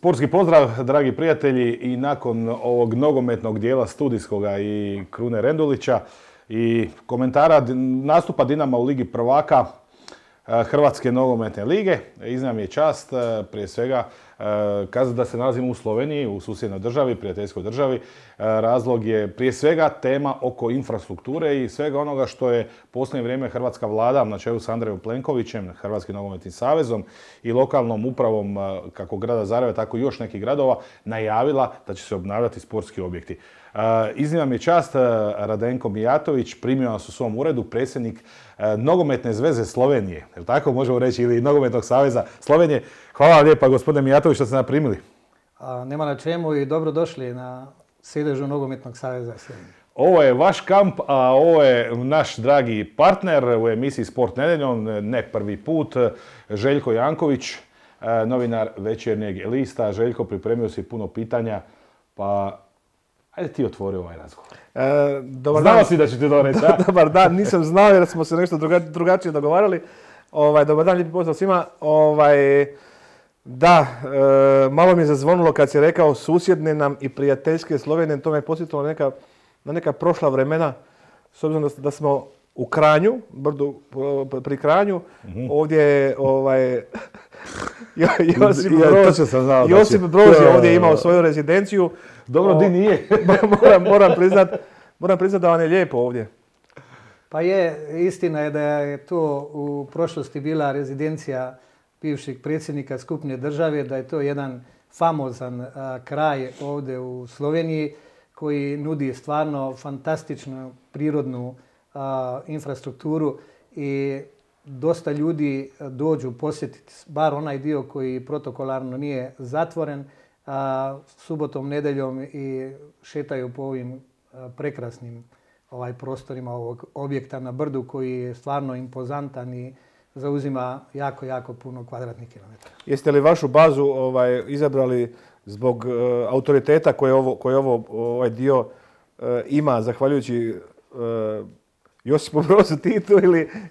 Sportski pozdrav, dragi prijatelji, i nakon ovog nogometnog dijela studijskoga i Krune Rendulića i komentara nastupa Dinama u Ligi prvaka Hrvatske nogometne lige, iznimna mi je čast prije svega kazati da se nalazimo u Sloveniji, u susjednoj državi, prijateljskoj državi. Razlog je prije svega tema oko infrastrukture i svega onoga što je posljednje vrijeme hrvatska vlada na čelu s Andrejom Plenkovićem, Hrvatskim nogometnim savezom i lokalnom upravom kako grada Zagreba, tako i još nekih gradova najavila da će se obnavljati sportski objekti. Iznimna mi je čast, Radenko Mijatović primio nas u svom uredu, predsjednik Nogometne zveze Slovenije, jel tako možemo reći, ili Nogometnog saveza Slovenije. Hvala vam lijepa, gospodine Mijatović, što ste nam primili. Nema na čemu i dobrodošli na sjedežu Nogometnog saveza Slovenije. Ovo je vaš kamp, a ovo je naš dragi partner u emisiji Sport nedeljom, ne prvi put, Željko Janković, novinar Večernjeg lista. Željko, pripremio si puno pitanja, pa ajde ti otvori ovaj razgovor. Znao si da ću ti to reći, a? Dobar dan, nisam znao jer smo se nešto drugačije dogovarali. Dobar dan, lijepi pozdrav svima. Malo mi je zazvonilo kad si rekao susjedne nam i prijateljske Slovenije, to me je podsjetilo na neka prošla vremena, s obzirom da smo u Kranju, brdu pri Kranju, ovdje je Josip Broz je ovdje imao svoju rezidenciju. Dobro, di nije? Moram priznat da vam je lijepo ovdje. Pa istina je da je to u prošlosti bila rezidencija bivšeg predsjednika skupne države, da je to jedan famozan kraj ovdje u Sloveniji koji nudi stvarno fantastičnu prirodnu infrastrukturu i dosta ljudi dođu posjetiti, bar onaj dio koji protokolarno nije zatvoren, subotom, nedeljom i šetaju po ovim prekrasnim prostorima ovog objekta na brdu koji je stvarno impozantan i zauzima jako, jako puno kvadratnih kilometara. Jeste li vašu bazu izabrali zbog autoriteta koje ovaj dio ima, zahvaljujući Josipu Brozu Titu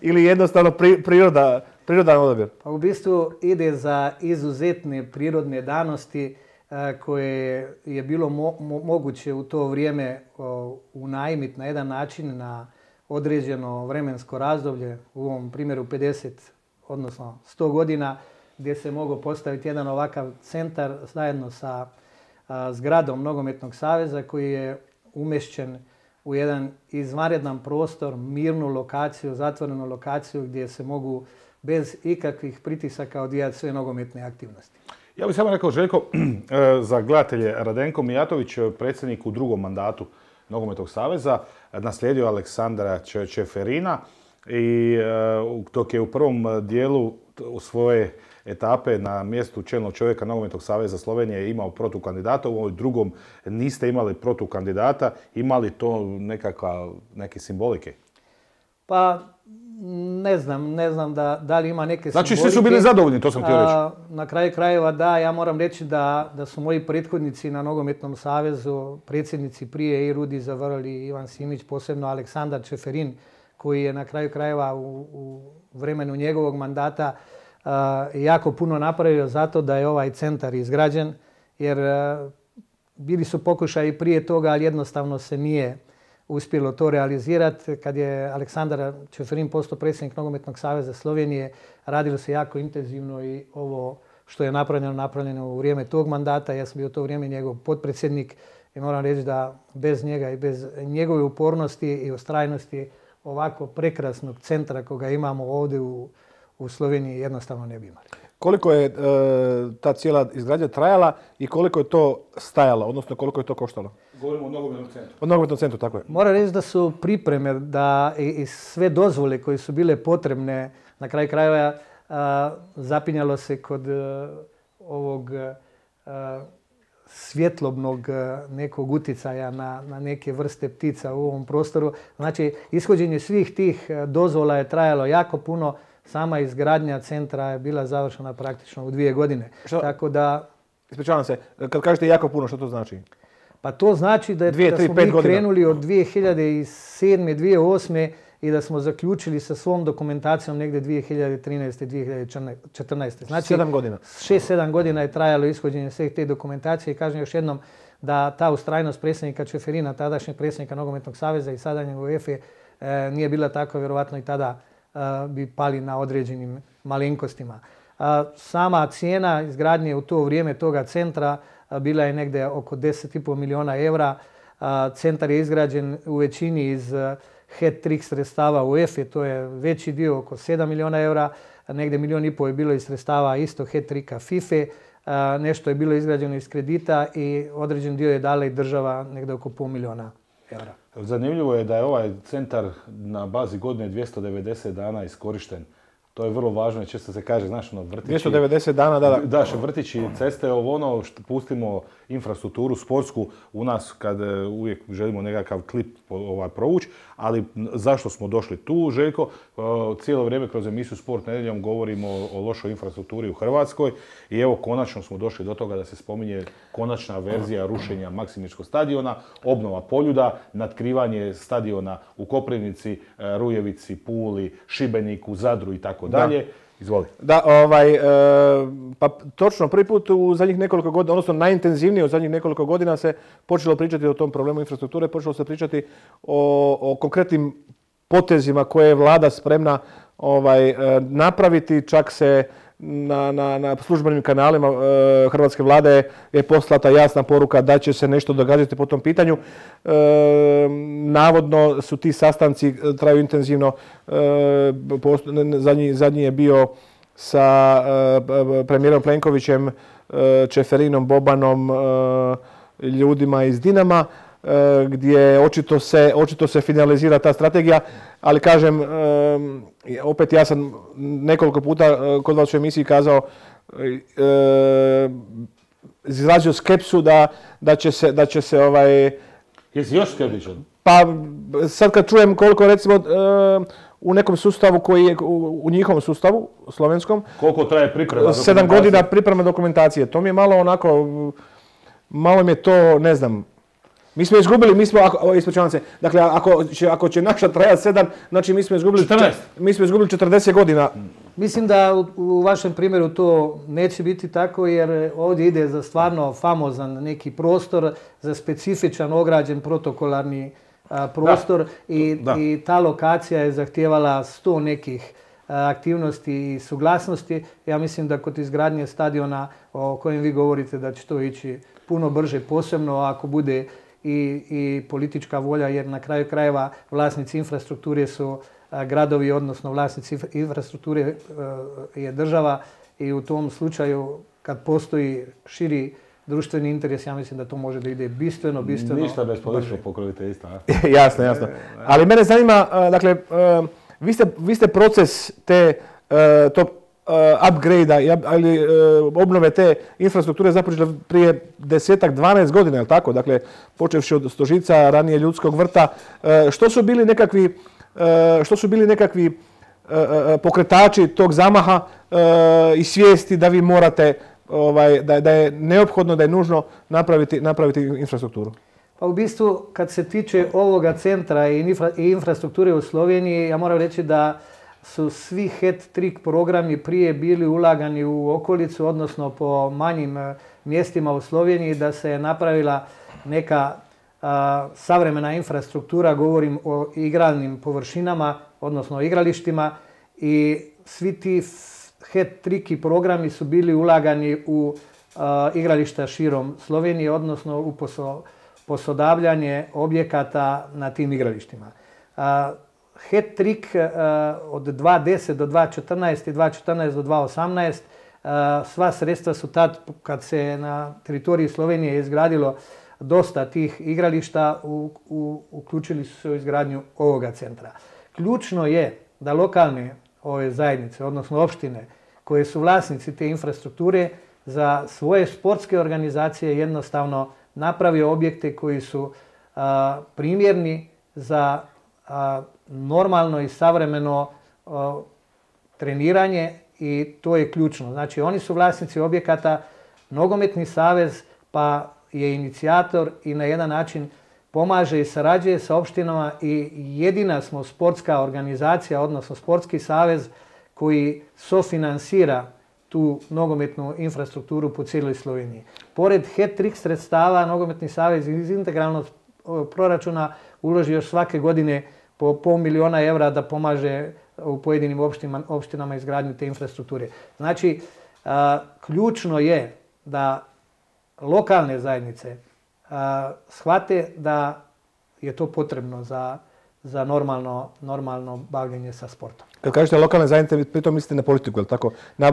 ili jednostavno prirodan odabir? Pa u bistvu ide za izuzetne prirodne danosti koje je bilo moguće u to vrijeme unajmiti na jedan način na određeno vremensko razdoblje, u ovom primjeru 50, odnosno 100 godina, gdje se mogao postaviti jedan ovakav centar zajedno sa zgradom Nogometnog saveza koji je umješćen u jedan izvanredan prostor, mirnu lokaciju, zatvorenu lokaciju gdje se mogu bez ikakvih pritisaka odvijati sve nogometne aktivnosti. Ja bih samo rekao, Željko, za gledatelje, Radenko Mijatović, predsjednik u drugom mandatu Nogometnog saveza, naslijedio Aleksandra Čeferina i dok je u prvom dijelu svoje etape na mjestu čelnog čovjeka Nogometnog saveza Slovenije imao protukandidata, u ovoj drugom niste imali protukandidata, imali to neke simbolike? Pa ne znam da li ima neke simbolike. Znači svi su bili zadovoljni, to sam htio reći. Na kraju krajeva da, ja moram reći da su moji prethodnici na Nogometnom savezu, predsjednici prije i Rudi Zavrli, Ivan Simić, posebno Aleksandar Čeferin, koji je na kraju krajeva u vremenu njegovog mandata jako puno napravio zato da je ovaj centar izgrađen, jer bili su pokušaji prije toga, ali jednostavno se nije uspjelo to realizirati. Kad je Aleksandar Čeferin postao predsjednik Nogometnog saveza Slovenije, radilo se jako intenzivno i ovo što je napravljeno u vrijeme tog mandata. Ja sam bio u to vrijeme njegov potpredsjednik i moram reći da bez njega i bez njegove upornosti i ustrajnosti ovako prekrasnog centra koga imamo ovdje u Sloveniji jednostavno ne bi imali. Koliko je ta cijela izgradnja trajala i koliko je to stajalo, odnosno koliko je to koštalo? Govorimo o nogometnom centru. O nogometnom centru, tako je. Moram reći da su pripreme i sve dozvole koje su bile potrebne, na kraju krajeva zapinjalo se kod ovog svjetlobnog nekog uticaja na neke vrste ptica u ovom prostoru. Znači, ishođenje svih tih dozvola je trajalo jako puno. Sama izgradnja centra je bila završena praktično u 2 godine. Tako da... Ispričavam se, kad kažete jako puno, što to znači? Pa to znači da smo mi krenuli od 2007. 2008. i da smo zaključili sa svom dokumentacijom negdje 2013-2014. Znači, 7 godina. 6-7 godina je trajalo ishođenje svih te dokumentacije i kažem još jednom da ta ustrajnost predsjednika Čeferina, tadašnjeg predsjednika Nogometnog saveza i sadašnjeg UEFA nije bila tako, vjerovatno i tada bi pali na određenim malenkostima. Sama cijena izgradnje u to vrijeme toga centra bila je negdje oko 10,5 milijuna eura. Centar je izgrađen u većini iz hat-trick sredstava UEFA, to je veći dio, oko 7 milijuna eura. Negdje 1,5 milijuna je bilo iz sredstava isto hat-tricka FIFA. Nešto je bilo izgrađeno iz kredita i određen dio je dala i država negdje oko pola milijuna eura. Zanimljivo je da je ovaj centar na bazi godine 290 dana iskorišten. To je vrlo važno, često se kaže, znaš, vrtići... 290 dana, da. Daš, vrtići, ceste, ono što pustimo infrastrukturu sportsku u nas kad uvijek želimo nekakav klip provući, ali zašto smo došli tu, Željko? Cijelo vrijeme kroz emisiju Sport nedjeljom govorimo o lošoj infrastrukturi u Hrvatskoj i evo konačno smo došli do toga da se spominje konačna verzija rušenja Maksimičkog stadiona, obnova Poljuda, natkrivanje stadiona u Koprivnici, Rujevici, Puli, Šibeniku, Zadru i tako dalje. Izvoli. Da, pa točno, prvi put u zadnjih nekoliko godina, odnosno najintenzivnije u zadnjih nekoliko godina se počelo pričati o tom problemu infrastrukture, počelo se pričati o konkretnim potezima koje je vlada spremna napraviti, čak se na službenim kanalima hrvatske vlade je poslata jasna poruka da će se nešto događati po tom pitanju. Navodno su ti sastanci traju intenzivno. Zadnji je bio sa premijerom Plenkovićem, Čeferinom, Bobanom, ljudima iz Dinama, gdje očito se finalizira ta strategija, ali kažem, opet ja sam nekoliko puta kod vas u emisiji kazao, izrazio skepsu da će se Jesi još skeptičan? Pa sad kad čujem koliko recimo u nekom sustavu koji je u njihovom sustavu, slovenskom, koliko traje priprema dokumentacije? 7 godina priprema dokumentacije. To mi je malo onako, malo mi je to, ne znam. Mi smo izgubili, ispričavam se, dakle ako će naša trajati 7, znači mi smo izgubili 14. Mi smo izgubili 40 godina. Mislim da u vašem primjeru to neće biti tako jer ovdje ide za stvarno famozan neki prostor, za specifičan ograđen protokolarni prostor i ta lokacija je zahtijevala 100 nekih aktivnosti i suglasnosti. Ja mislim da kod izgradnje stadiona o kojem vi govorite da će to ići puno brže, posebno ako bude i politička volja, jer na kraju krajeva vlasnici infrastrukture su gradovi, odnosno vlasnici infrastrukture je država i u tom slučaju kad postoji širi društveni interes, ja mislim da to može da ide bistveno Ništa bez političkog pokroviteljstva. Jasno. Ali mene zanima, dakle, vi ste proces tog upgrade-a ili obnove te infrastrukture započeli prije 10-12 godina, je li tako? Dakle, počevši od Stožica, ranije Ljudskog vrta. Što su bili nekakvi pokretači tog zamaha i svijesti da vi morate, da je neophodno, da je nužno napraviti infrastrukturu? Pa u bistvu, kad se tiče ovoga centra i infrastrukture u Sloveniji, ja moram reći da su svi hat-trick programi prije bili ulagani u okolicu, odnosno po manjim mjestima u Sloveniji, da se je napravila neka savremena infrastruktura, govorim o igralnim površinama, odnosno o igralištima, i svi ti hat-trick programi su bili ulagani u igrališta širom Slovenije, odnosno u posodavljanje objekata na tim igralištima. Hat-trick od 2010 do 2014 i 2014 do 2018, sva sredstva su tad, kad se na teritoriji Slovenije izgradilo dosta tih igrališta, uključili su se u izgradnju ovoga centra. Ključno je da lokalne ove zajednice, odnosno opštine, koje su vlasnici te infrastrukture, za svoje sportske organizacije jednostavno napravi objekte koji su primjerni za normalno i savremeno treniranje i to je ključno. Znači oni su vlasnici objekata, Nogometni savez pa je inicijator i na jedan način pomaže i sarađuje sa opštinama i jedina smo sportska organizacija, odnosno sportski savez koji sofinansira tu nogometnu infrastrukturu po cijeloj Sloveniji. Pored hat-trick sredstava, Nogometni savez iz integralnog proračuna uloži još svake godine po $500.000 evra da pomaže u pojedinim opštinama izgradnju te infrastrukture. Znači, ključno je da lokalne zajednice shvate da je to potrebno za normalno bavljenje sa sportom. Kad kažete lokalne zajednice, pritom mislite na politiku, je li tako? Na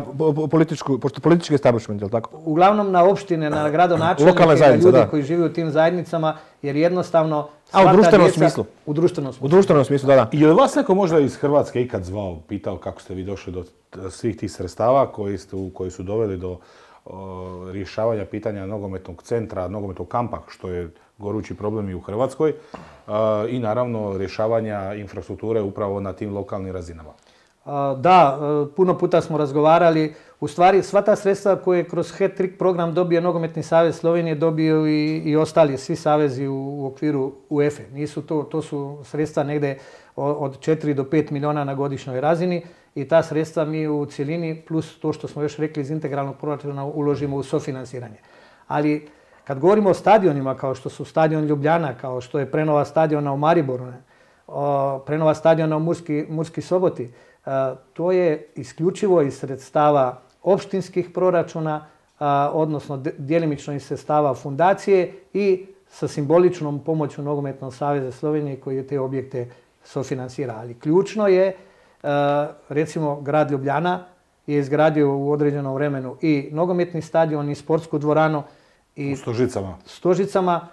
politički establishment, je li tako? Uglavnom na opštine, na gradonačelnike, na ljude koji žive u tim zajednicama, jer jednostavno u društvenom smislu? U društvenom smislu. U društvenom smislu, da. Je li vas neko možda iz Hrvatske ikad zvao, pitao kako ste vi došli do svih tih sredstava koji su doveli do rješavanja pitanja nogometnog centra, nogometnog kampa, što je gorući problem i u Hrvatskoj, i naravno rješavanja infrastrukture upravo na tim lokalnim razinama? Da, puno puta smo razgovarali. U stvari, sva ta sredstva koje kroz hat-trick program dobije Nogometni savez Slovenije, dobiju i ostali svi savezi u okviru UEFA. To su sredstva negde od 4 do 5 miliona na godišnjoj razini i ta sredstva mi u cjelini, plus to što smo još rekli iz integralnog proračuna, uložimo u sofinansiranje. Ali kad govorimo o stadionima, kao što su stadion Ljubljana, kao što je prenova stadiona u Mariboru, prenova stadiona u Murski Soboti, to je isključivo iz sredstava opštinskih proračuna, odnosno djelimično iz sredstava fundacije i sa simboličnom pomoću Nogometnog saveza Slovenije koji je te objekte sofinansira. Ali ključno je, recimo, grad Ljubljana je izgradio u određenom vremenu i nogometni stadion i sportsku dvoranu. U Stožicama.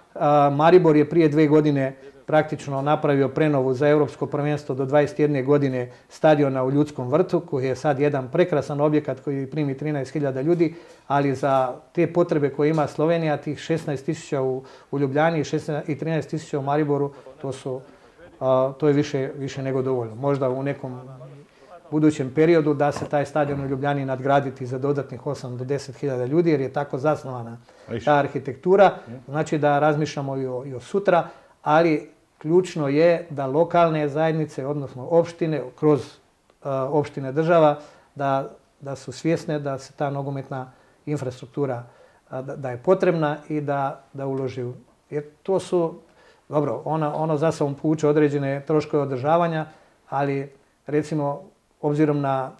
Maribor je prije 2 godine praktično napravio prenovu za Europsko prvenstvo do 21 godine stadiona u Ljudskom vrtu, koji je sad jedan prekrasan objekat koji primi 13.000 ljudi, ali za te potrebe koje ima Slovenija, tih 16.000 u Ljubljani i 13.000 u Mariboru, to je više nego dovoljno. Možda u nekom budućem periodu da se taj stadion u Ljubljani nadgraditi za dodatnih 8 do 10.000 ljudi, jer je tako zasnovana ta arhitektura. Znači da razmišljamo i o sutra, ali ključno je da lokalne zajednice, odnosno opštine, kroz opštine država, da su svjesne da se ta nogometna infrastruktura da je potrebna i da uloži. Jer to su, dobro, ono za sobom povuče određene troškove održavanja, ali recimo obzirom na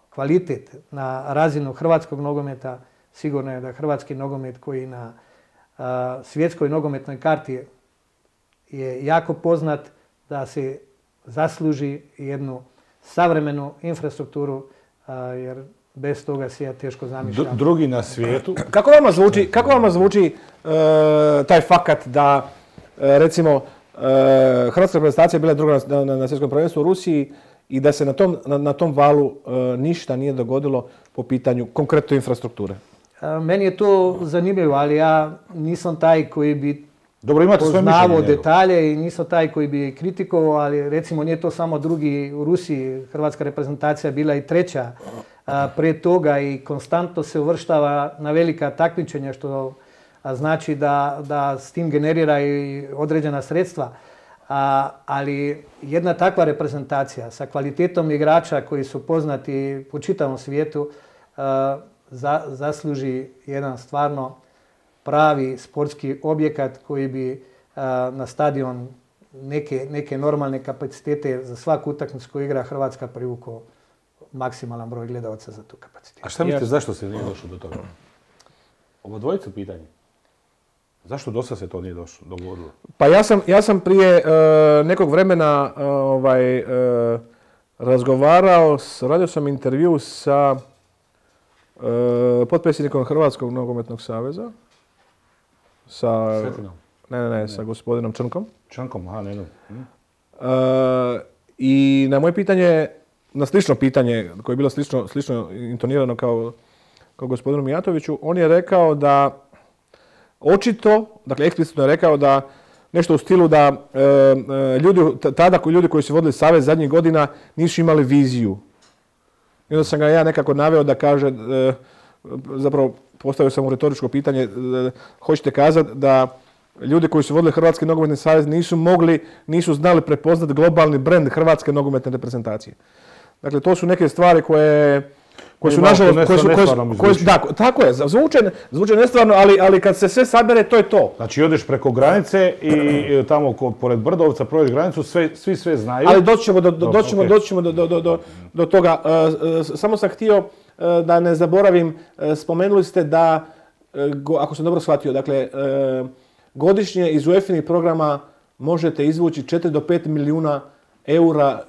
kvalitet, na razinu hrvatskog nogometa, sigurno je da hrvatski nogomet koji na svjetskoj nogometnoj karti je jako poznat, da se zasluži jednu savremenu infrastrukturu, jer bez toga se ja teško zamišljam. Drugi na svijetu. Kako vama zvuči taj fakat da, recimo, hrvatska reprezentacija bila druga na svjetskom prvenstvu u Rusiji i da se na tom valu ništa nije dogodilo po pitanju konkretno infrastrukture? Meni je to zanimljivo, ali ja nisam taj koji bi poznavao detalje i nisam taj koji bi kritikovao, ali recimo nije to samo drugi u Rusiji. Hrvatska reprezentacija bila i 3. Pre toga i konstantno se uvrštava na velika takmičenja, što znači da s tim generira i određena sredstva. Ali jedna takva reprezentacija sa kvalitetom igrača koji su poznati po čitavom svijetu zasluži jedan stvarno pravi sportski objekat koji bi na stadion neke normalne kapacitete za svaku utakmicu koju igra Hrvatska privukao maksimalan broj gledalaca za tu kapacitetu. A šta mislite, zašto se nije došlo do toga? Ovo dvojicu pitanje. Zašto do sada se to nije dogodilo? Pa ja sam prije nekog vremena razgovarao, radio sam intervju sa potpredsjednikom Hrvatskog nogometnog saveza. Svetinom? Ne, sa gospodinom Črnkom. Črnkom, aha, ne. I na moje pitanje, na slično pitanje, koje je bilo slično intonirano kao gospodinu Mijatoviću, on je rekao da očito, dakle eksplicitno je rekao da nešto u stilu da ljudi koji su vodili savez zadnjih godina nisu imali viziju. I onda sam ga ja nekako naveo da kaže, zapravo postavio sam mu retoričko pitanje, hoćete kazati da ljudi koji su vodili Hrvatski nogometni savez nisu znali prepoznati globalni brend Hrvatske nogometne reprezentacije. Dakle, to su neke stvari koje su nažalost, tako je, zvuče nestvarno, ali kad se sve sabere, to je to. Znači, odeš preko granice i tamo pored Brdovca prođeš granicu, svi sve znaju. Ali doći ćemo do toga. Samo sam htio da ne zaboravim, spomenuli ste da, ako sam dobro shvatio, dakle, godišnje iz UEFA-inih programa možete izvući 4 do 5 milijuna eura.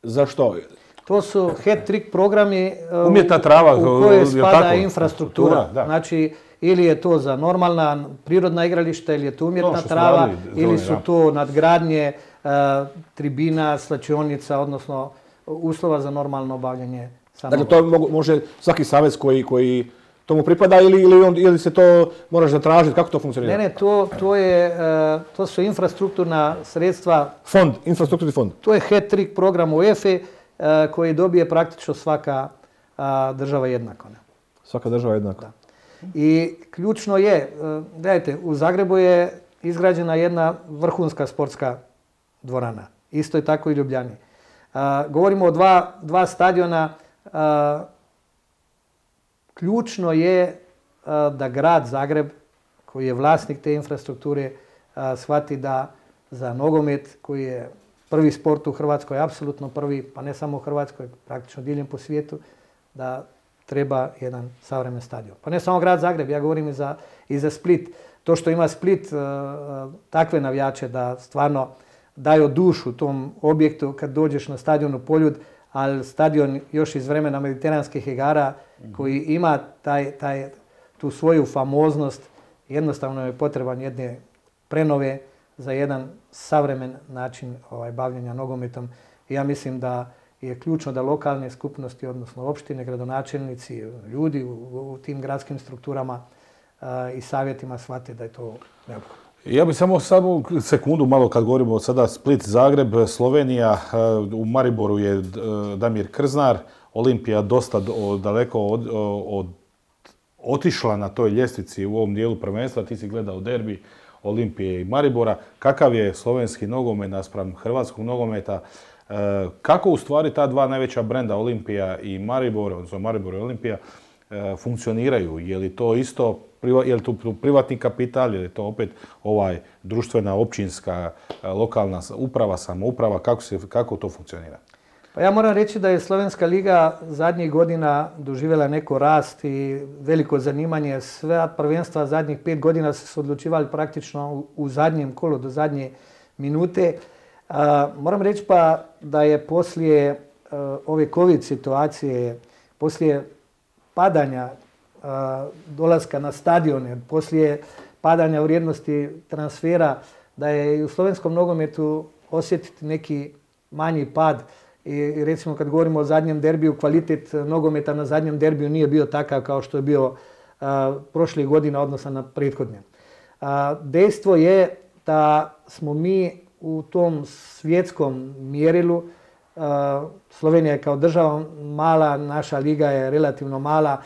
Za što? To su hat-trick programi umjetna trava, u koje spada infrastruktura. Znači, ili je to za normalna prirodna igrališta, ili je to umjetna trava, ili su to nadgradnje tribina, slačionica, odnosno uslova za normalno obavljanje samog. Dakle, to može svaki savez koji tomu pripada ili se to moraš zatražiti? Kako to funkcionira? Ne, to su infrastrukturna sredstva. Fond, infrastrukturni fond. To je hat-trick program UEFA koji dobije praktično svaka država jednako. Svaka država jednako. Da. I ključno je, gledajte, u Zagrebu je izgrađena jedna vrhunska sportska dvorana. Isto je tako i u Ljubljani. Govorimo o dva stadiona. Ključno je da grad Zagreb, koji je vlasnik te infrastrukture, shvati da za nogomet, koji je prvi sport u Hrvatskoj, apsolutno prvi, pa ne samo u Hrvatskoj, praktično diljem po svijetu, da treba jedan savremen stadion. Pa ne samo grad Zagreb, ja govorim i za Split. To što ima Split takve navijače da stvarno daju dušu tom objektu kad dođeš na stadion u Poljud, ali stadion još iz vremena mediteranskih igara koji ima tu svoju famoznost, jednostavno je potreban jedne prenove za jedan savremen način bavljenja nogometom. I ja mislim da je ključno da lokalne skupnosti, odnosno opštine, gradonačelnici, ljudi u tim gradskim strukturama i savjetima shvate da je to neophodno. Ja bih samo sekundu malo kad govorimo sada Split, Zagreb, Slovenija, u Mariboru je Damir Krznar, Olimpija dosta daleko otišla na toj ljestvici u ovom dijelu prvenstva, ti si gledao derbi Olimpije i Maribora. Kakav je slovenski nogomet naspram hrvatskog nogometa? Kako u stvari ta dva najveća brenda Olimpija i Maribor, odnosno Maribor i Olimpija, funkcioniraju? Je li to isto, je li to privatni kapital, je li to opet društvena, općinska, lokalna uprava, samouprava? Kako to funkcionira? Pa ja moram reći da je Slovenska liga zadnjih godina doživjela neko rast i veliko zanimanje. Sve prvenstva zadnjih 5 godina su se odlučivali praktično u zadnjem kolu, do zadnje minute. Moram reći pa da je poslije ove COVID situacije, poslije padanja dolaska na stadione, poslije padanja vrijednosti transfera, da je i u slovenskom nogometu osjetiti neki manji pad. I recimo kad govorimo o zadnjem derbiju, kvalitet nogometa na zadnjem derbiju nije bio takav kao što je bio prošlih godina odnosno na prethodnje. Dejstvo je da smo mi u tom svjetskom mjerilu, Slovenija je kao država mala, naša liga je relativno mala.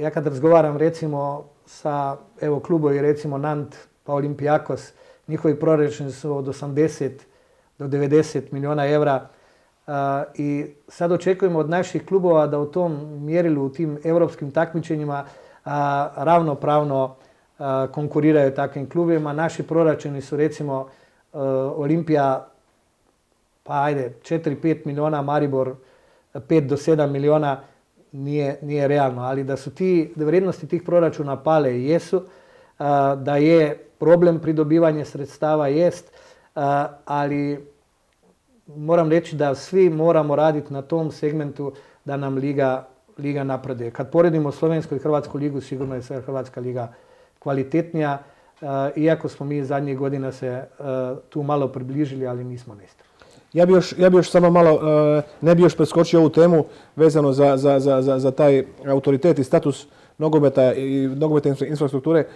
Ja kad razgovaram recimo sa klubovi recimo Nant pa Olympiakos, njihovi proračuni su od 80 do 90 milijuna evra. I sad očekujemo od naših klubova da u tom mjerilu, u tim europskim takmičenjima ravnopravno konkuriraju takvim klubima. Naši proračuni su recimo Olimpija, pa ajde, 4-5 milijuna, Maribor 5 do 7 milijuna, nije realno. Ali da su da vrijednosti tih proračuna pale i jesu, da je problem pridobivanje sredstava jest, ali moram reći da svi moramo raditi na tom segmentu da nam liga napreduje. Kad poredimo Slovensku i Hrvatsku ligu, sigurno je Hrvatska liga kvalitetnija, iako smo mi zadnjih godina se tu malo približili, ali nismo nestali. Ja bi još samo malo, ne bi još preskočio ovu temu vezano za taj autoritet i status nogometa i nogometne infrastrukture.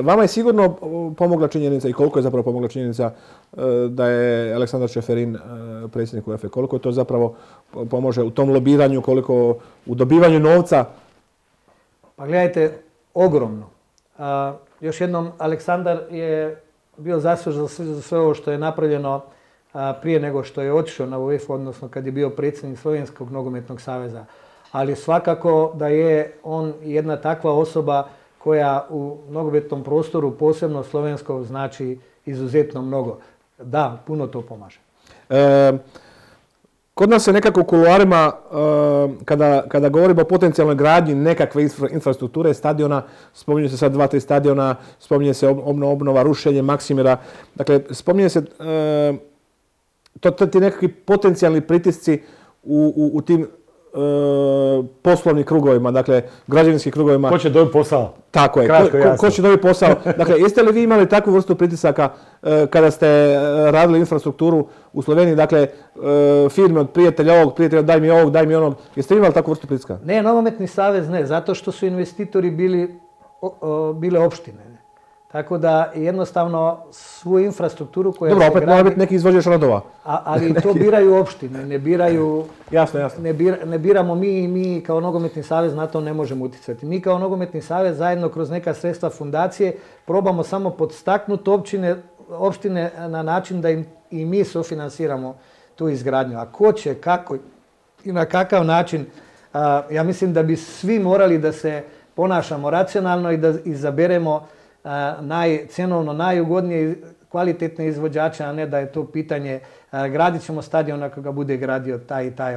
Vama je sigurno pomogla činjenica i koliko je zapravo pomogla činjenica da je Aleksandar Čeferin predsjednik UEFA. Koliko to zapravo pomože u tom lobiranju, koliko u dobivanju novca? Pa gledajte, ogromno. još jednom, Aleksandar je bio zaslužan za sve ovo što je napravljeno prije nego što je otišao na UEFA, odnosno kad je bio predsjednik Slovenskog nogometnog saveza. Ali svakako da je on jedna takva osoba koja u nogometnom prostoru, posebno slovenskom, znači izuzetno mnogo. Da, puno to pomaže. Kod nas se nekako u kuloarima, kada govorimo o potencijalnoj gradnji nekakve infrastrukture, stadiona, spominje se sad 2-3 stadiona, spominje se obnova, rušenje Maksimira. Dakle, spominje se ti nekakvi potencijalni pritisci u tim poslovnim krugovima, dakle građevinskim krugovima. Ko će dobiti posao? Tako je, ko će dobiti posao. Dakle, jeste li vi imali takvu vrstu pritisaka kada ste radili infrastrukturu u Sloveniji, dakle firme od prijatelja ovog, prijatelja daj mi ovog, daj mi onog, jeste li imali takvu vrstu pritiska? Ne, Nogometni savez ne, zato što su investitori bile opštine. Tako da jednostavno svu infrastrukturu koja se gradi... Dobro, opet mora biti neki izvođač radova. Ali to biraju opštine, ne biraju... Jasno. Ne biramo mi kao Nogometni savez, na to ne možemo utjecati. Mi kao Nogometni savez zajedno kroz neka sredstva fundacije probamo samo podstaknuti opštine na način da im i mi sufinansiramo tu izgradnju. A ko će, kako i na kakav način, ja mislim da bi svi morali da se ponašamo racionalno i da izaberemo cjenovno najugodnije kvalitetne izvođače, a ne da je to pitanje gradit ćemo stadion ako ga bude gradio taj i taj,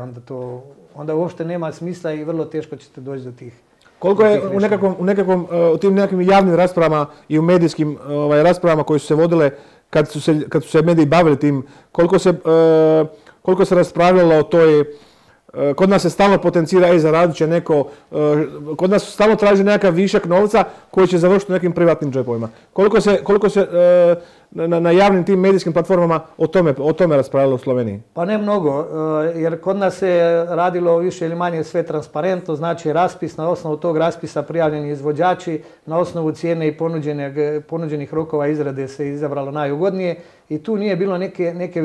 onda uopšte nema smisla i vrlo teško ćete doći do tih. Koliko je u tim nekakvim javnim raspravama i u medijskim raspravama koje su se vodile kad su se mediji bavili tim, koliko se raspravljalo o toj... Kod nas se stalno potencira, zaradit će neko, kod nas stalno traži nekakav višak novca koji će završiti u nekim privatnim džepovima. Koliko se na javnim tim medijskim platformama o tome raspravljalo u Sloveniji? Pa ne mnogo, jer kod nas se radilo više ili manje sve transparentno, znači raspis, na osnovu tog raspisa prijavljeni izvođači, na osnovu cijene i ponuđenih rokova izrade se izabralo najugodnije i tu nije bilo neke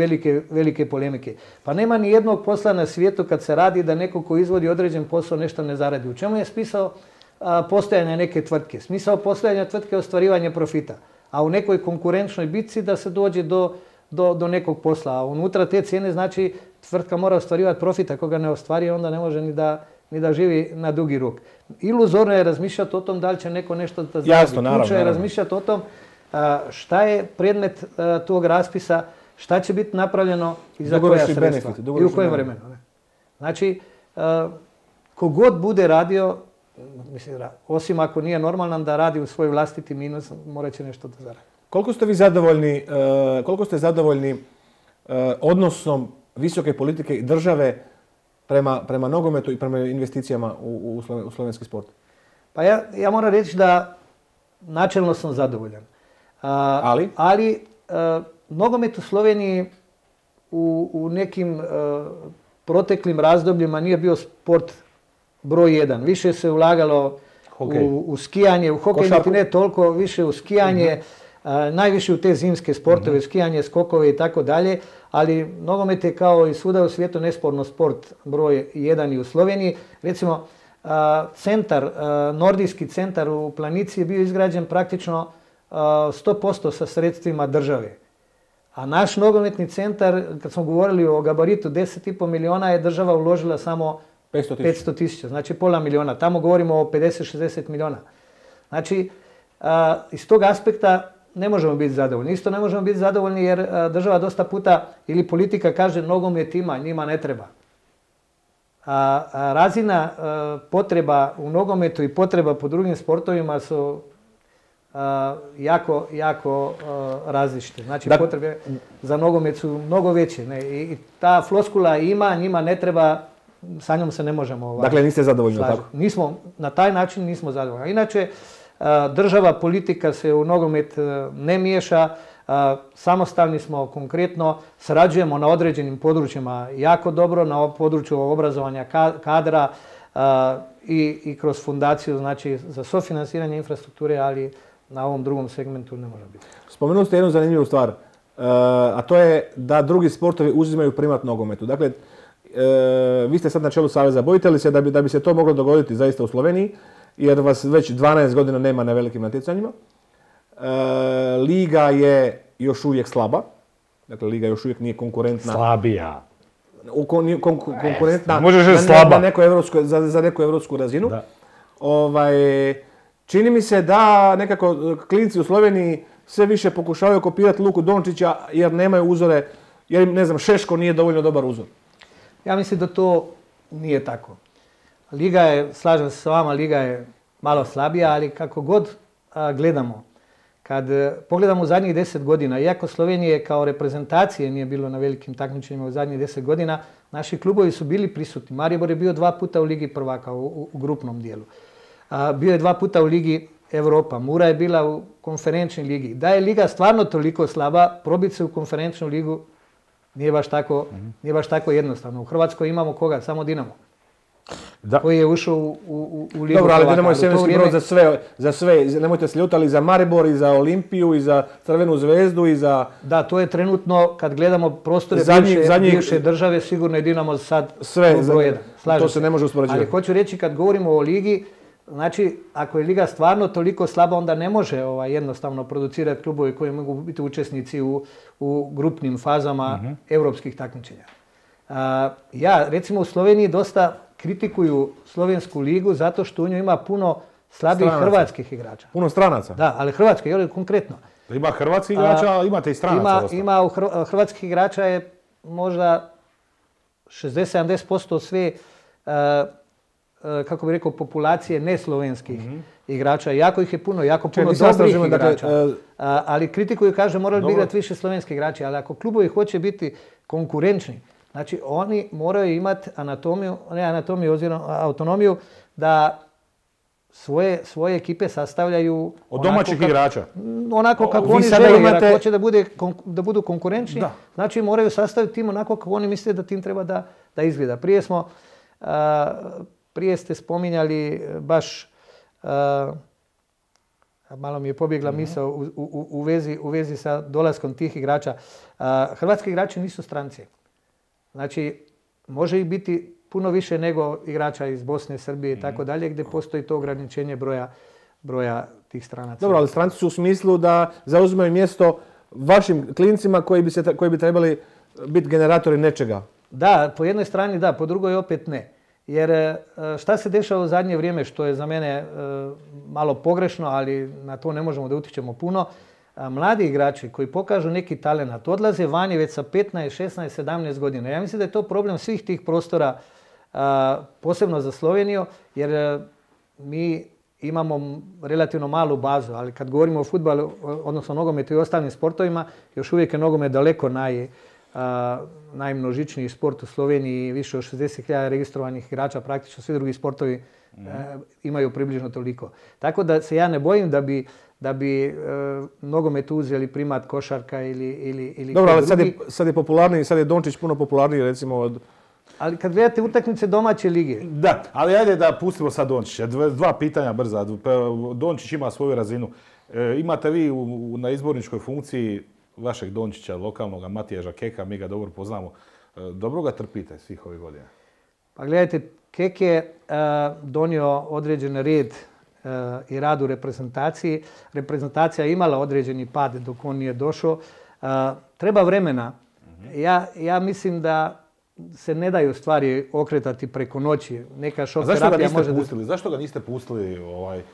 velike polemike. Pa nema ni jednog posla na svijetu kad se radi da neko ko izvodi određen posao nešto ne zaradi. U čemu je smisao postojanja neke tvrtke? Smisao postojanja tvrtke je ostvarivanje profita, a u nekoj konkurenčnoj bitci da se dođe do nekog posla. A unutra te cijene znači tvrtka mora ostvarivati profit, ako ga ne ostvari onda ne može ni da živi na dugi rok. Iluzorno je razmišljati o tom da li će neko nešto da zaradi. Jasno, naravno. Ključno je razmišljati o tom šta je predmet tog raspisa, šta će biti napravljeno i za koja sredstva i u kojem vremenu. Znači, kogod bude radio, osim ako nije normalan da radi u svoj vlastiti minus, morat će nešto da zaradi. Koliko ste zadovoljni odnosom visoke politike i države prema nogometu i prema investicijama u slovenski sport? Pa ja moram reći da načelno sam zadovoljan. Ali nogomet u Sloveniji u nekim proteklim razdobljima nije bio sport broj 1. Više se ulagalo u skijanje, u hokej niti ne toliko, više u skijanje, najviše u te zimske sportove, skijanje, skokove i tako dalje, ali nogomet je kao i svuda u svijetu nesporno sport broj 1 i u Sloveniji. Recimo, nordijski centar u Planici je bio izgrađen praktično 100% sa sredstvima države. A naš nogometni centar, kad smo govorili o gabaritu 10,5 miliona, je država uložila samo 500.000, znači pola miliona. Tamo govorimo o 50-60 miliona. Znači, iz tog aspekta ne možemo biti zadovoljni. Isto ne možemo biti zadovoljni jer država dosta puta ili politika kaže nogomet ima, njima ne treba. Razina potreba u nogometu i potreba po drugim sportovima su jako različite. Znači, potrebe za nogomet su mnogo veće. I ta floskula ima, njima ne treba, sa njom se ne možemo... Dakle, niste zadovoljni, tako? Na taj način nismo zadovoljni. Inače, država, politika se u nogomet ne miješa, samostalni smo konkretno, sarađujemo na određenim područjima jako dobro, na području obrazovanja kadra i kroz fundaciju, znači za sofinansiranje infrastrukture, ali na ovom drugom segmentu ne može biti. Spomenuli ste jednu zanimljivu stvar, a to je da drugi sportovi uzimaju primat nogometu. Dakle, vi ste sad na čelu Saveza. Bojite li se da bi se to moglo dogoditi zaista u Sloveniji, jer vas već 12 godina nema na velikim natjecanjima? Liga je još uvijek slaba. Dakle, Liga još uvijek nije konkurentna. Slabija. Konkurentna Možeš reći slaba. Za neku evropsku razinu. Čini mi se da nekako klinci u Sloveniji sve više pokušavaju kopirati Luku Dončića jer nemaju uzore, jer ne znam, Šeško nije dovoljno dobar uzor. Ja mislim da to nije tako. Liga je, slažem se s vama, Liga je malo slabija, ali kako god gledamo, kad pogledamo u zadnjih 10 godina, iako Slovenije kao reprezentacije nije bilo na velikim takmičenjima u zadnjih 10 godina, naši klubovi su bili prisutni. Maribor je bio 2 puta u Ligi prvaka u grupnom dijelu. Bio je 2 puta u Ligi Europa. Mura je bila u konferenčnoj ligi. Da je Liga stvarno toliko slaba, probiti se u konferenčnu ligu nije baš tako jednostavno. U Hrvatskoj imamo koga? Samo Dinamo. Koji je ušao u Ligu prvaka. Dobro, ali Dinamo je svemirski brod za sve. Nemojte se ljutali za Maribor i za Olimpiju i za Crvenu zvezdu i za... Da, to je trenutno, kad gledamo prostore bivše države, sigurno je Dinamo sad broj 1. To se ne može uspoređivati. Ali hoću reći, kad govorimo o Ligi, znači, ako je Liga stvarno toliko slaba, onda ne može jednostavno producirati klubovi koji mogu biti učesnici u grupnim fazama europskih takmičenja. Ja, recimo u Sloveniji dosta kritikuju Slovensku ligu zato što u njoj ima puno slabih hrvatskih igrača. Puno stranaca? Da, ali hrvatski, jer konkretno. Ima hrvatskih igrača, ali imate i stranaca. Ima hrvatskih igrača je možda 60-70% sve kako bih rekao, populacije neslovenskih igrača. Jako ih je puno, puno dobrih igrača. Ali kritikuju, kaže, morali bi igrati više slovenskih igrača. Ali ako klubovi hoće biti konkurenčni, znači oni moraju imati autonomiju da svoje ekipe sastavljaju od domaćih igrača. Onako kako oni žele, jer ako hoće da budu konkurenčni, znači moraju sastaviti tim onako kako oni misle da tim treba da izgleda. Prije ste spominjali baš, malo mi je pobjegla misao u vezi sa dolaskom tih igrača. Hrvatski igrači nisu stranci. Znači, može ih biti puno više nego igrača iz Bosne, Srbije i tako dalje, gdje postoji to ograničenje broja tih stranaca. Dobro, ali stranci su u smislu da zauzimaju mjesto vašim klincima koji bi trebali biti generatori nečega. Da, po jednoj strani da, po drugoj opet ne. Jer šta se dešava u zadnje vrijeme, što je za mene malo pogrešno, ali na to ne možemo da utičemo puno, mladi igrači koji pokažu neki talenat odlaze vani već sa 15, 16, 17 godina. Ja mislim da je to problem svih tih prostora, posebno za Sloveniju, jer mi imamo relativno malu bazu, ali kad govorimo o fudbalu, odnosno nogometu i ostalim sportovima, još uvijek je nogomet daleko najmnožičniji sport u Sloveniji, više od 60.000 registrovanih igrača, praktično svi drugi sportovi imaju približno toliko. Tako da se ja ne bojim da bi nogomet uzeli primat košarka ili dobro, ali sad je popularniji, sad je Dončić puno popularniji recimo od... Ali kad gledate utakmice domaće lige... Da, ali ajde da pustimo sad Dončića. Dva pitanja brza. Dončić ima svoju razinu. Imate vi na izborničkoj funkciji vašeg Dončića, lokalnog Matijaža Keka, mi ga dobro poznamo. Dobro ga trpite svih ovih godina? Pa gledajte, Kek je donio određen red i rad u reprezentaciji. Reprezentacija je imala određeni pad dok on nije došao. Treba vremena. Ja mislim da se ne daju stvari okretati preko noći. Neka šok terapija može... Zašto ga niste pustili?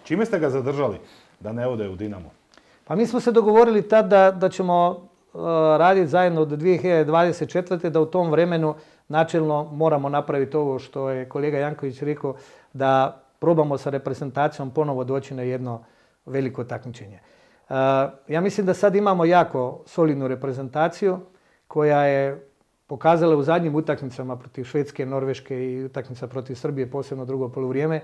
Čime ste ga zadržali da ne ode u Dinamo? Pa mi smo se dogovorili tad da ćemo raditi zajedno do 2024. da u tom vremenu načelno moramo napraviti ovo što je kolega Janković rekao, da probamo sa reprezentacijom ponovo doći na jedno veliko takmičenje. Ja mislim da sad imamo jako solidnu reprezentaciju koja je pokazala u zadnjim utakmicama protiv Švedske, Norveške i utakmica protiv Srbije, posebno drugo poluvrijeme,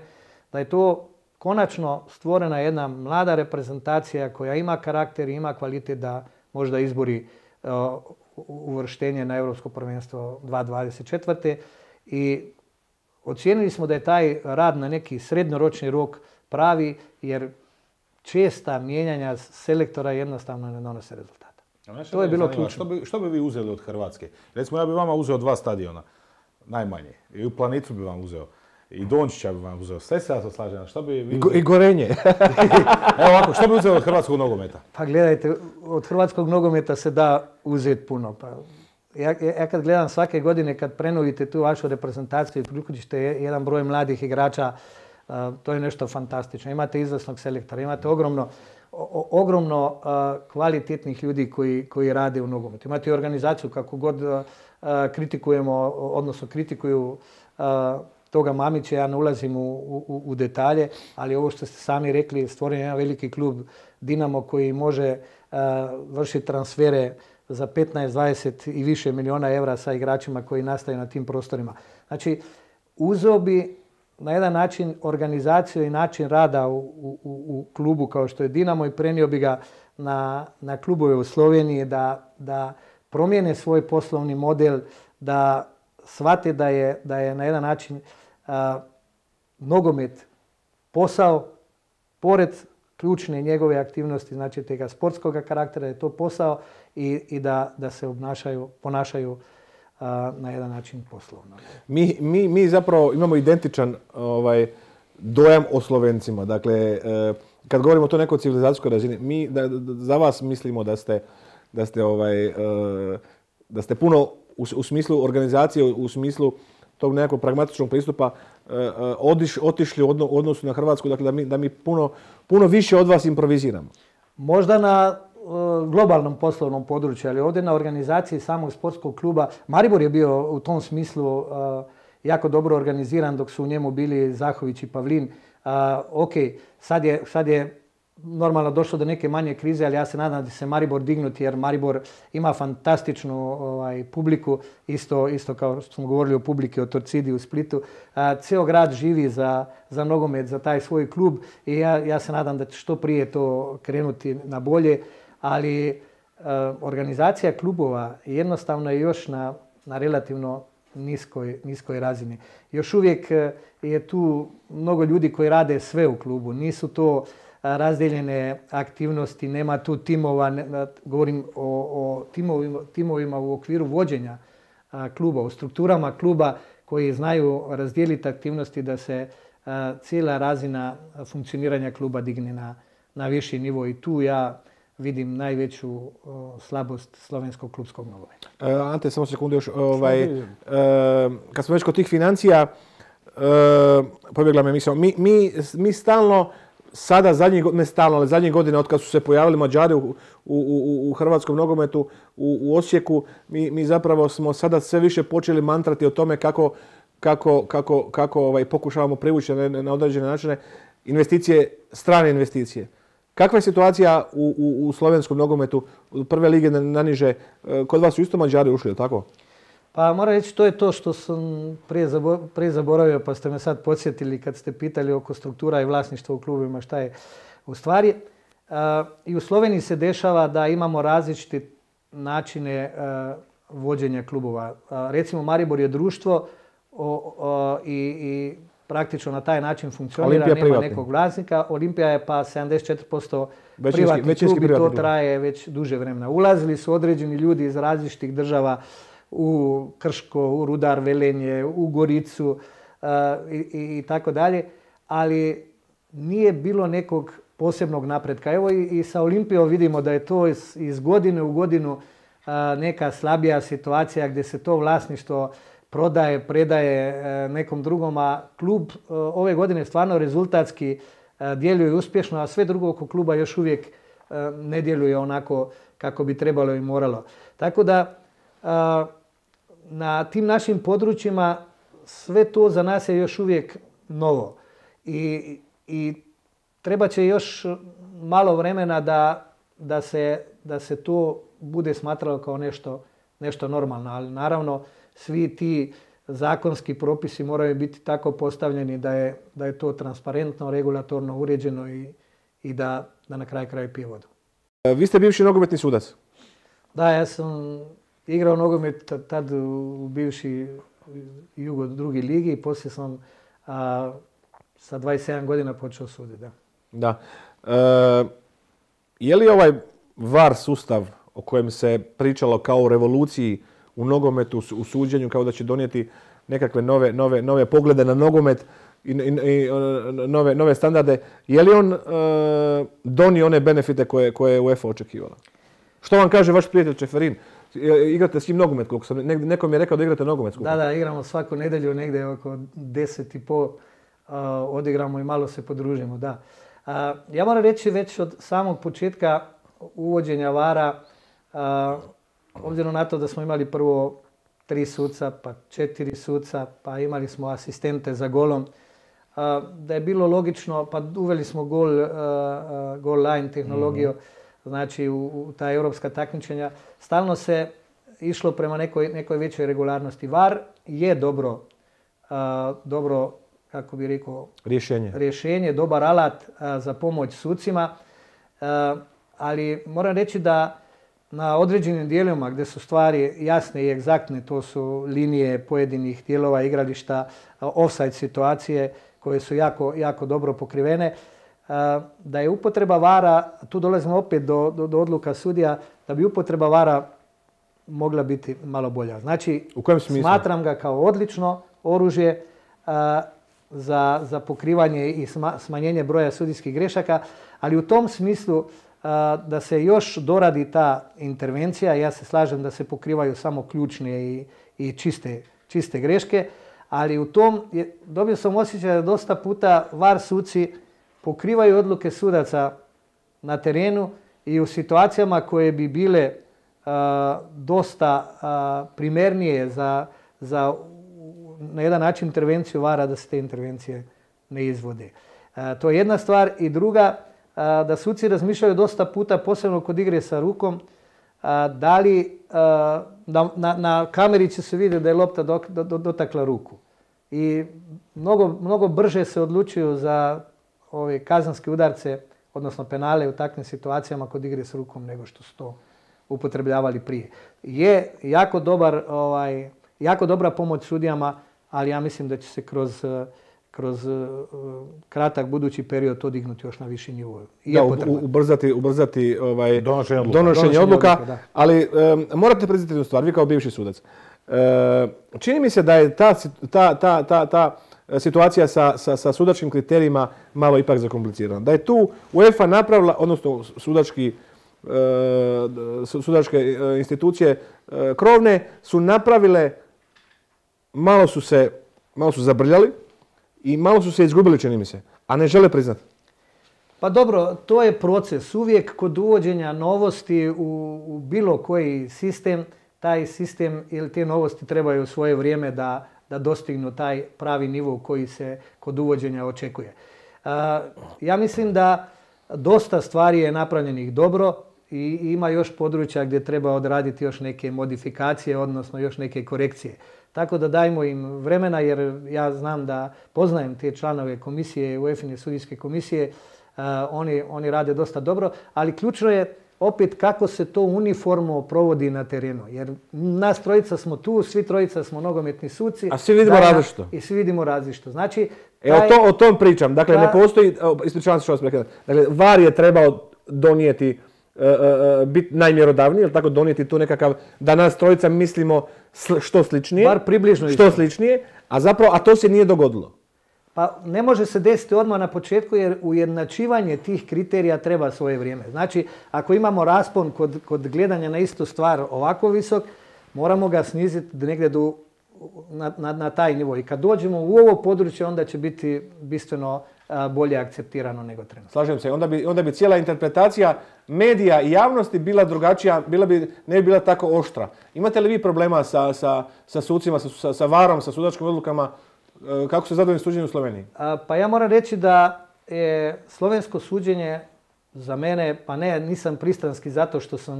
da je to konačno stvorena jedna mlada reprezentacija koja ima karakter i ima kvalitet da možda izbori uvrštenje na Europsko prvenstvo 2024. I ocijenili smo da je taj rad na neki srednjoročni rok pravi, jer česta mijenjanja selektora jednostavno ne donose rezultata. To je bilo ključno. Što bi vi uzeli od Hrvatske? Recimo, ja bi vama uzeo 2 stadiona, najmanje. I u Planicu bi vam uzeo. I Dončića bi vam uzeo. Sve se ja to slažem. Što bi vi I Gorenje. Evo ovako, što bi uzeo od hrvatskog nogometa? Pa gledajte, od hrvatskog nogometa se da uzeti puno. Pa ja kad gledam svake godine, kad prenovite tu vašu reprezentaciju i priključite jedan broj mladih igrača, to je nešto fantastično. Imate izvrsnog selektora, imate ogromno kvalitetnih ljudi koji rade u nogometu. Imate i organizaciju, kako god kritikujemo, odnosno kritikuju toga Mamića, ja ne ulazim u detalje, ali ovo što ste sami rekli, stvoren je jedan veliki klub Dinamo koji može vršiti transfere za 15, 20 i više miliona evra sa igračima koji nastaju na tim prostorima. Znači, uzeo bi na jedan način organizaciju i način rada u klubu kao što je Dinamo i prenio bi ga na klubove u Sloveniji da promijene svoj poslovni model, da shvate da je na jedan način nogomet posao, pored ključne njegove aktivnosti, znači tega sportskog karaktera, je to posao i da se ponašaju na jedan način poslovno. Mi zapravo imamo identičan dojam o Slovencima. Dakle, kad govorimo o to nekoj civilizacijskoj razini, mi za vas mislimo da ste puno u smislu organizacije, u smislu tog nekog pragmatičnog pristupa otišli u odnosu na Hrvatsku, dakle da mi puno više od vas improviziramo. Možda na globalnom poslovnom području, ali ovdje na organizaciji samog sportskog kluba. Maribor je bio u tom smislu jako dobro organiziran dok su u njemu bili Zahović i Pavlin. Ok, sad je normalno došlo do neke manje krize, ali ja se nadam da će se Maribor dignuti jer Maribor ima fantastičnu publiku, isto kao što smo govorili o publiki o Torcidi u Splitu. Ceo grad živi za nogomet, za taj svoj klub i ja se nadam da će što prije to krenuti na bolje, ali organizacija klubova jednostavno je još na relativno niskoj razini. Još uvijek je tu mnogo ljudi koji rade sve u klubu, nisu to razdijeljene aktivnosti, nema tu timova, govorim o timovima u okviru vođenja kluba, u strukturama kluba koji znaju razdijeliti aktivnosti da se cijela razina funkcioniranja kluba digne na viši nivo i tu ja vidim najveću slabost slovenskog klubskog nogometa. Ante, samo sekundu još. Kad smo već kod tih financija, pobjegla me misao. Mi stalno, sada zadnje godine od kad su se pojavili Mađari u hrvatskom nogometu u Osijeku, mi zapravo smo sada sve više počeli mantrati o tome kako pokušavamo privući na određene načine investicije, strane investicije. Kakva je situacija u slovenskom nogometu, od prve lige naniže? Kod vas su isto Mađari ušli, tako? Pa moram reći, to je to što sam prije zaboravio, pa ste me sad podsjetili kad ste pitali oko struktura i vlasništva u klubima šta je. U stvari, i u Sloveniji se dešava da imamo različite načine vođenja klubova. Recimo, Maribor je društvo i praktično na taj način funkcionira, nema nekog vlasnika. Olimpija je pa 74% privatni klub i to traje već duže vremena. Ulazili su određeni ljudi iz različitih država u Krško, u Rudar Velenje, u Goricu i tako dalje, ali nije bilo nekog posebnog napretka. Evo i sa Olimpijom vidimo da je to iz godine u godinu neka slabija situacija gdje se to vlasništvo predaje nekom drugom, a klub ove godine stvarno rezultatski djeluje uspješno, a sve drugo oko kluba još uvijek ne djeluje onako kako bi trebalo i moralo. Tako da na tim našim područjima sve to za nas je još uvijek novo i treba će još malo vremena da se to bude smatralo kao nešto normalno, ali naravno svi ti zakonski propisi moraju biti tako postavljeni da je to transparentno, regulatorno uređeno i da na kraju pije vodu. Vi ste bivši nogometni sudac. Da, ja sam igrao nogomet tad u bivši Jugo drugi ligi i poslije sam sa 27 godina počeo suditi. Da. Je li ovaj VAR sustav o kojem se pričalo kao o revoluciji u nogometu, u suđenju, kao da će donijeti nekakve nove poglede na nogomet, i nove standarde, je li on donio one benefite koje je UEFA očekivala? Što vam kaže vaš prijatelj Čeferin? Igrate s njim nogomet, koliko sam, neko mi je rekao da igrate nogomet. Da, igramo svaku nedjelju negdje oko 10:30, odigramo i malo se podružimo, da. Ja moram reći već od samog početka uvođenja VAR-a, obzirom na to da smo imali prvo 3 suca, pa 4 suca, pa imali smo asistente za golom, da je bilo logično, pa uveli smo goal line tehnologiju, znači u ta europska takmičenja. Stalno se išlo prema nekoj većoj regularnosti. VAR je dobro, kako bi rekao, rješenje, dobar alat za pomoć sucima, ali moram reći da na određenim dijelovima gdje su stvari jasne i egzaktne, to su linije pojedinih dijelova igrališta, offside situacije koje su jako dobro pokrivene, da je upotreba VAR-a, tu dolazimo opet do odluka sudija, da bi upotreba VAR-a mogla biti malo bolja. Znači, u kojem smislu? Smatram ga kao odlično oružje za pokrivanje i smanjenje broja sudijskih grešaka, ali u tom smislu da se još doradi ta intervencija. Ja se slažem da se pokrivaju samo ključne i čiste greške, ali u tom dobio sam osjećaj da dosta puta VAR suci pokrivaju odluke sudaca na terenu i u situacijama koje bi bile dosta primernije za na jedan način intervenciju VAR-a, da se te intervencije ne izvode. To je jedna stvar. I druga, da suci razmišljaju dosta puta, posebno kod igre sa rukom, da li na kameri će se vidjeti da je lopta dotakla ruku. I mnogo brže se odlučuju za ove kazanske udarce, odnosno penale u takvim situacijama kod igre s rukom nego što su to upotrebljavali prije. Je jako dobra pomoć sudijama, ali ja mislim da će se kroz kratak budući period to dignuti još na viši nivo. Ubrzati donošenje odluka, ali morate priznati jednu stvar, vi kao bivši sudac. Čini mi se da je ta situacija sa sudačkim kriterijima malo ipak zakomplicirana. Da je tu UEFA napravila, odnosno sudačke institucije krovne su napravile, malo su zabrljali i malo su se izgubili, čini mi se, a ne žele priznati. Pa dobro, to je proces. Uvijek kod uvođenja novosti u bilo koji sistem, taj sistem ili te novosti trebaju svoje vrijeme da dostignu taj pravi nivo koji se kod uvođenja očekuje. Ja mislim da dosta stvari je napravljenih dobro i ima još područja gdje treba odraditi još neke modifikacije, odnosno još neke korekcije. Tako da dajmo im vremena, jer ja znam da poznajem te članove komisije, UEFA-ine sudijske komisije, oni rade dosta dobro, ali ključno je opet kako se to uniformno provodi na terenu. Jer nas trojica smo tu, svi trojica smo nogometni suci. A svi vidimo različito. I svi vidimo različito. Znači, o tom pričam. Dakle, ne postoji, ispričavam se što vas prekidam. Dakle, VAR je trebao donijeti, biti najmjerodavniji, ili tako donijeti tu nekakav, da nas trojica mislimo što sličnije. Bar približno što sličnije, a to se nije dogodilo. Pa ne može se desiti odmah na početku, jer ujednačivanje tih kriterija treba svoje vrijeme. Znači, ako imamo raspon kod gledanja na istu stvar ovako visok, moramo ga sniziti negdje na taj nivo. I kad dođemo u ovo područje, onda će biti bistveno bolje akceptirano nego trenutno. Slažem se. Onda bi cijela interpretacija medija i javnosti bila drugačija, ne bi bila tako oštra. Imate li vi problema sa sucima, sa VAR-om, sa sudačkim odlukama? Kako se zadovoljni suđenje u Sloveniji? Pa ja moram reći da je slovensko suđenje za mene, pa nisam pristranski zato što sam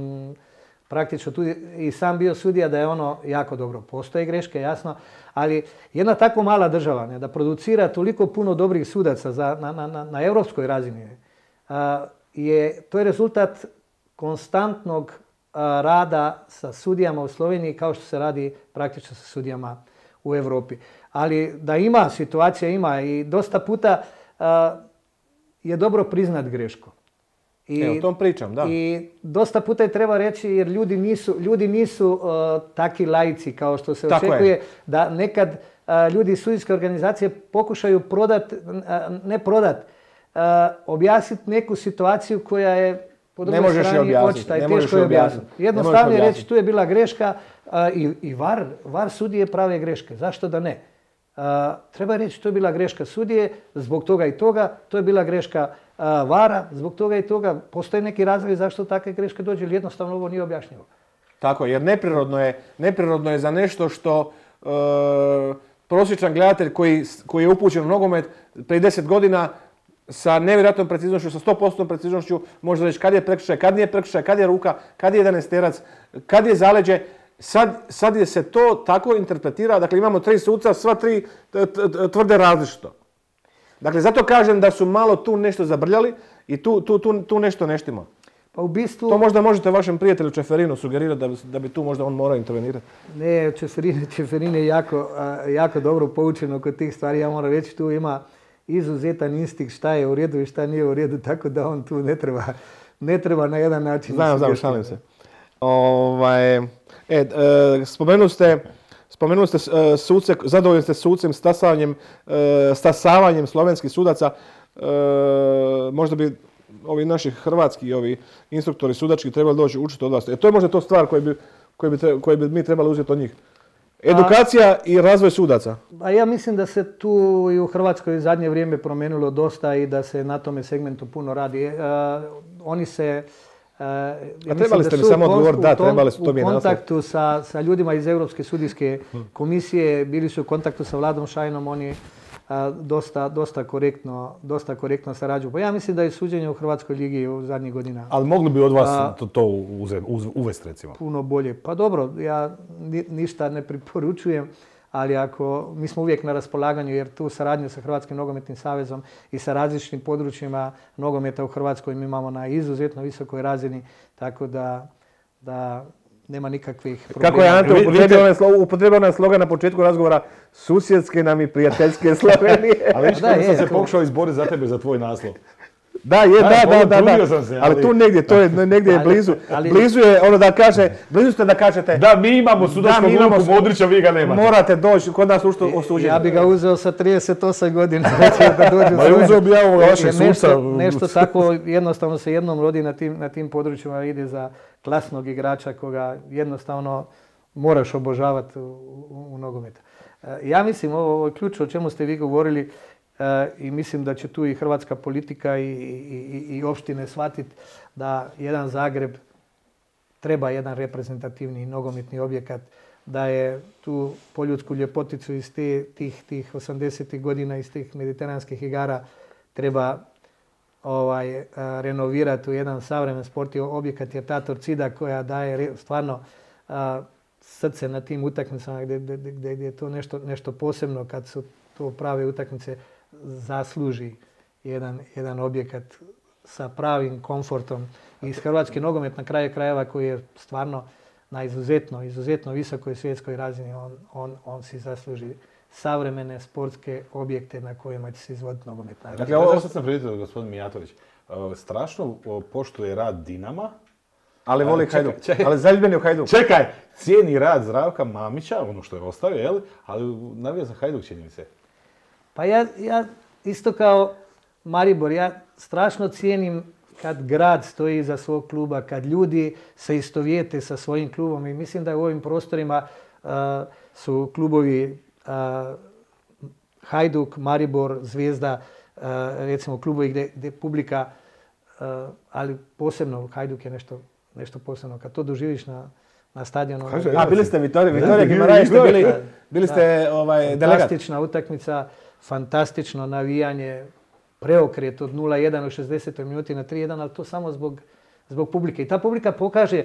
praktično tu i sam bio sudija, da je ono jako dobro. Postoje greške, jasno, ali jedna tako mala država da producira toliko puno dobrih sudaca na europskoj razini, to je rezultat konstantnog rada sa sudijama u Sloveniji, kao što se radi praktično sa sudijama u Europi. Ali da ima situacija, ima i dosta puta je dobro priznat grešku. O tom pričam, da. I dosta puta je treba reći, jer ljudi nisu taki laici kao što se očekuje, da nekad ljudi iz sudijske organizacije pokušaju objasniti neku situaciju koja je po drugoj strani očita i teško je objasniti. Jednostavno je reći tu je bila greška i VAR sudije prave greške. Zašto da ne? Treba reći to je bila greška sudije zbog toga i toga, to je bila greška VAR-a zbog toga i toga. Postoje neki razlog zašto takve greške dođu ili jednostavno ovo nije objašnjivo. Tako, jer neprirodno je za nešto što prosječan gledatelj koji je upućen u nogomet prije 10 godina sa nevjerojatnom preciznošću, sa 100% preciznošću može reći kad je prekršaj, kad nije prekršaj, kad je ruka, kad je 11-terac, kad je zaleđe. Sad je se to tako interpretira, dakle imamo 3 suca, sva 3 tvrde različito. Dakle, zato kažem da su malo tu nešto zabrljali i tu nešto ne štima. Pa u bistvu... To možda možete vašem prijatelju Čeferinu sugerirati da bi tu možda on morao intervenirati. Ne, Čeferin je jako dobro poučen oko tih stvari. Ja moram reći, tu ima izuzetan instinkt šta je u redu i šta nije u redu, tako da on tu ne treba na jedan način... Znam, šalim se. Spomenuli ste suce, zadovoljni ste sucem stasavanjem slovenskih sudaca. Možda bi ovi naši hrvatski instruktori sudački trebali doći učiti od vas. To je možda to stvar koju bi mi trebali uzeti od njih. Edukacija i razvoj sudaca. A ja mislim da se tu i u Hrvatskoj zadnje vrijeme promijenilo dosta i da se na tome segmentu puno radi. Oni se... A trebali ste mi samo odgovoriti, da, trebali su, to mi je naslov. U kontaktu sa ljudima iz Europske sudijske komisije, bili su u kontaktu sa Vladom Šajnom, oni dosta korektno sarađuju. Pa ja mislim da je suđenje u Hrvatskoj ligi u zadnjih godina... Ali mogli bi od vas to uvesti, recimo? Puno bolje. Pa dobro, ja ništa ne preporučujem, ali mi smo uvijek na raspolaganju, jer tu saradnju sa Hrvatskim nogometnim savezom i sa različitim područjima nogometa u Hrvatskoj mi imamo na izuzetno visokoj razini, tako da nema nikakvih problema. Kako je Ante upotrebio onaj slogan na početku razgovora, susjedske nam i prijateljske Slovenije. Ali viš kada sam se pokušao izboriti za tebe, za tvoj naslov. Da, ali tu negdje, to je negdje blizu. Blizu je ono blizu ste da kažete... Da, mi imamo sudačkog Luku Modrića, vi ga nemate. Morate doći kod nas osuđeni. Ja bi ga uzeo sa 38 godina. Ma uzeo bi ja ovoga vašeg suca. Nešto tako jednostavno se jednom rodi na tim područjima, ide za klasnog igrača koga jednostavno moraš obožavati u nogometu. Ja mislim, ovo je ključ o čemu ste vi govorili, i mislim da će tu i hrvatska politika i opštine shvatiti da jedan Zagreb treba jedan reprezentativni nogometni objekat, da je tu poljudsku ljepoticu iz tih 80. godina, iz tih mediteranskih igara treba renovirati u jedan savremen sportski objekat, jer ta Torcida koja daje stvarno srce na tim utakmicama gdje je to nešto posebno kad su to prave utakmice, zasluži jedan objekat sa pravim komfortom. I hrvatski nogomet na kraju krajeva koji je stvarno na izuzetno visokoj svjetskoj razini, on si zasluži savremene sportske objekte na kojima će se izvoditi nogomet. Dakle, ovo što sam prijetio, gospodin Mijatović, strašno poštuje rad Dinama, ali voli Hajduk. Ali zaljubljen je u Hajduk. Čekaj, cijeni rad Zdravka Mamića, ono što je ostavio, ali navija za Hajduk, čini mi se. Pa ja isto kao Maribor, ja strašno cijenim kad grad stoji iza svog kluba, kad ljudi se istovijete sa svojim klubom, i mislim da u ovim prostorima su klubovi Hajduk, Maribor, Zvijezda, recimo klubovi gdje publika, ali posebno Hajduk je nešto posebno. Kad to doživiš na stadionu... Bili ste Vitorija Gimaraje, bili ste delegat. Fantastična utakmica, fantastično navijanje, preokret od 0-1 u 60. minuti na 3-1, ali to samo zbog publike. I ta publika pokaže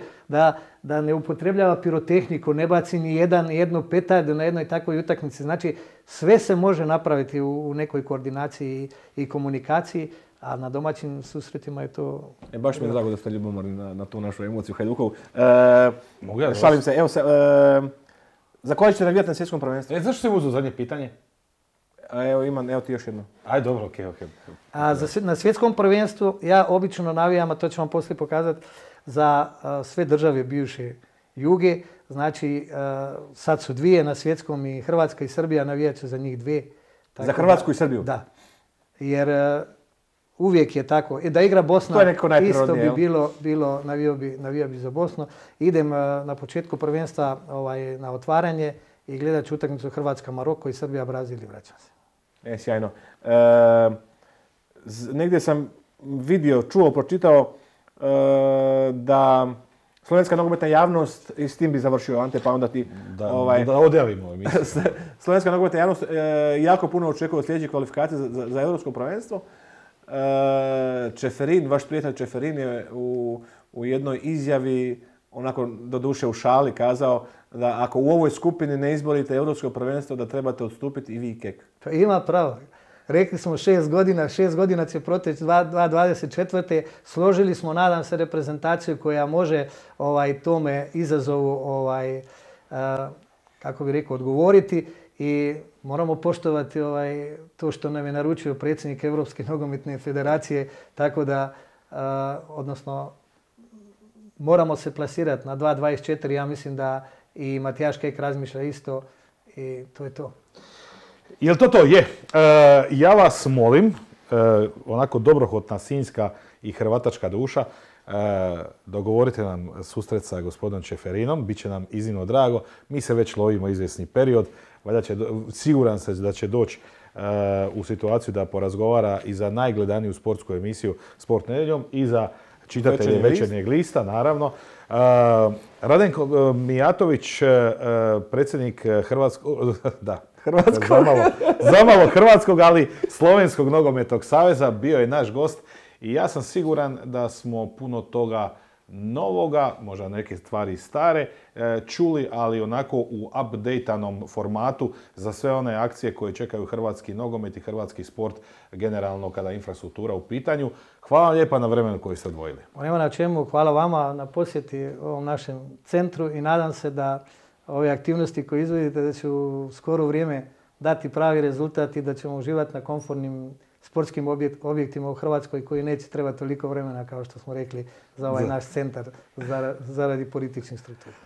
da ne upotrebljava pirotehniku, ne baci ni jednu petardu na jednoj takvoj utakmici. Znači, sve se može napraviti u nekoj koordinaciji i komunikaciji, a na domaćim susretima je to... Baš mi je drago da ste ljubomorni na tu našu emociju Hajdukovu. Mogu ja šalim se, za koje ćete navijati na svjetskom prvenstvu? Zašto si uzeo zadnje pitanje? Evo ti još jedno. Ajde, dobro, okej. Na svjetskom prvenstvu ja obično navijam, a to ću vam poslije pokazati, za sve države bivše Juge. Znači, sad su dvije na svjetskom i Hrvatska i Srbija navijat će za njih dvije. Za Hrvatsku i Srbiju? Da. Jer uvijek je tako. Da igra Bosna, isto bi bilo navijao bi za Bosnu. Idem na početku prvenstva na otvaranje i gledat ću utakmicu Hrvatska-Maroko i Srbija-Brazil i vraćam se. Sjajno. Negdje sam vidio, čuo, pročitao da slovenska nogometna javnost, i s tim bi završio Ante, pa onda ti... Da odjavimo emisiju. Slovenska nogometna javnost jako puno očekuje od sljedećih kvalifikacija za europsko prvenstvo. Čeferin, vaš prijatelj Čeferin je u jednoj izjavi, onako doduše u šali, kazao da ako u ovoj skupini ne izborite europsko prvenstvo, da trebate odstupiti i vi i Kek. Pa ima pravo. Rekli smo 6 godina će proteći 2024. Složili smo, nadam se, reprezentaciju koja može tome izazovu, kako bi rekao, odgovoriti i moramo poštovati to što nam je naručio predsjednik Europske nogometne federacije, tako da, odnosno, moramo se plasirati na 2.24. Ja mislim da i Matijaš Kek razmišlja isto i to je to. Jel to je? Ja vas molim, onako dobrohotna sinjska i hrvatačka duša, dogovorite nam susret sa gospodinom Čeferinom, bit će nam iznimno drago. Mi se već lovimo izvjesni period, siguran sam da će doći u situaciju da porazgovara i za najgledaniju sportsku emisiju Sport nedjeljom i za čitatelje Večernjeg lista, naravno. Radenko Mijatović, predsjednik zamalo Hrvatskog, ali Slovenskog nogometnog saveza, bio je naš gost i ja sam siguran da smo puno toga novoga, možda neke stvari stare, čuli, ali onako u updateanom formatu za sve one akcije koje čekaju hrvatski nogomet i hrvatski sport generalno kada je infrastruktura u pitanju. Hvala vam lijepa na vremenu koji ste odvojili. Nema na čemu, hvala vama na posjeti ovom našem centru i nadam se da ove aktivnosti koje izvodite da će u skoro vrijeme dati pravi rezultat i da ćemo uživati na komfortnim sportskim objektima u Hrvatskoj koji neće trebati toliko vremena, kao što smo rekli, za ovaj naš centar zaradi političnih struktura.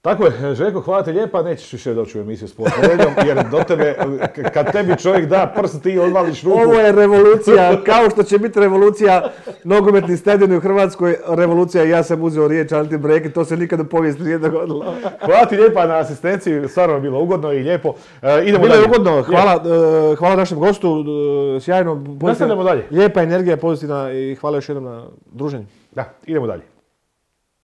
Tako je, Željko, hvala ti lijepa, nećeš više doći u emisiju Sport nedjeljom, jer do tebe, kad tebi čovjek da prst, ti odvališ ruku. Ovo je revolucija, kao što će biti revolucija nogometni stadion u Hrvatskoj, revolucija, ja sam uzeo riječ Ante Breki, to se nikad u povijesti nije dogodilo. Hvala ti lijepa na asistenciji, stvarno je bilo ugodno i lijepo. Idemo dalje. Bilo je ugodno, hvala našem gostu, sjajno. Nastavljamo dalje. Lijepa energija, pozitivna i hvala još jednom na druženju. Da, idemo dalje.